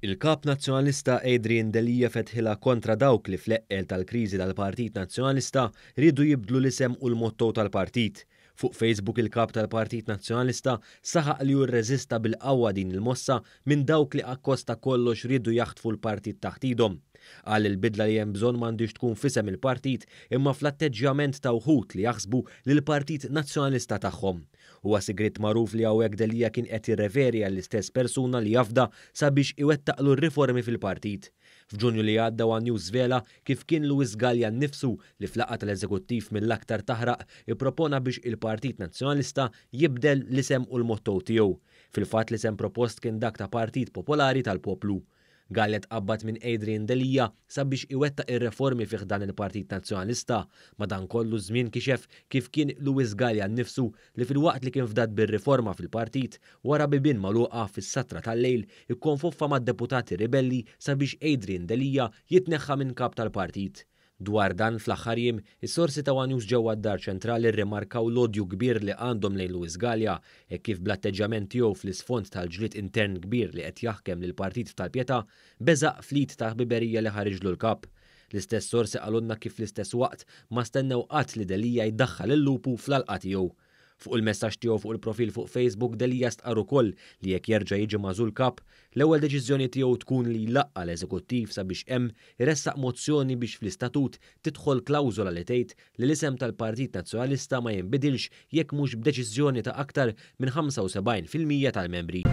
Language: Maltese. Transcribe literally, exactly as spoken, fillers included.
Il-Kap Nazzjonalista Adrian Delia fetħilha kontra dawk li fl-eqqel tal-kriżi tal-Partit Nazzjonalista riedu jibdlu l-isem u l-motto tal-partit. Fuq Facebook, il-Kap tal-Partit Nazzjonalista saħaq li hu rreżista bil-qawwa din il-mossa minn dawk li akkost ta' kollox riedu jaħtfu l-partit taħt idhom. Qal li l-bidla li hemm bżonn m'għandhiex tkun f'isem il-partit, imma fl-atteġġjament ta' wħud li jaħsbu li l-Partit Nazzjonalista tagħhom. Huwa sigriet magħruf li hawnhekk Delia kien qed jirreferi għall-istess persuna li jafda sabiex iwettaqlu r-riformi fil-partit. F'Ġunju li għadda, One News żvela kif kien Louis Galea nnifsu li f'laqgħa tal-eżekuttiv mill-aktar taħraq ippropona biex il-Partit Nazzjonalista jibdel l-isem u l-motto tiegħu. Fil-fatt, l-isem propost kien dak ta' Partit Popolari tal-Poplu. Galea tqabbad minn Adrian Delia sabiex iwettaq ir-reformi fih dan il-Partit Nazzjonalista. Madankollu, żmien kixef kif kien Louis Galea nnifsu li, filwaqt li kien fdat bir-riforma fil-partit, wara bibien magħluqa fis-satra tal-lejl ikkonfoffa mad-deputati ribelli sabiex Adrian Delia jitneħħa minn kap tal-partit. Dwar dan, fl-aħħar jiem, is-sorsi ta' One News ġewwa d-Dar Ċentrali rrimarkaw l-odju kbir li għandhom lejn Louis Galea e kif bl-atteġġjament tiegħu fl-isfond tal-ġlied intern kbir li qed jaħkem lil partit tal-Pietà beżaq fl-id ta' ħbiberija li ħariġlu l-kap. L-istess sorsi qalulna kif fl-istess waqt ma stennew qatt li Delia jdaħħal il-lupu fl-għalqa tiegħu. Fuq il-messaġġ tiegħu fuq il-profil fuq Facebook, Delia stqarr ukoll li jekk jerġa' jiġi magħżul kap, l-ewwel deċiżjoni tiegħu tkun li jlaqqa l-eżekuttiv sabiex hemm iressaq mozzjoni biex fl-istatut tidħol klawżola li tgħid li l-isem tal-Partit Nazzjonalista ma jinbidilx jekk mhux b'deċiżjoni ta' aktar minn ħamsa u sebgħin fil-mija tal-membri.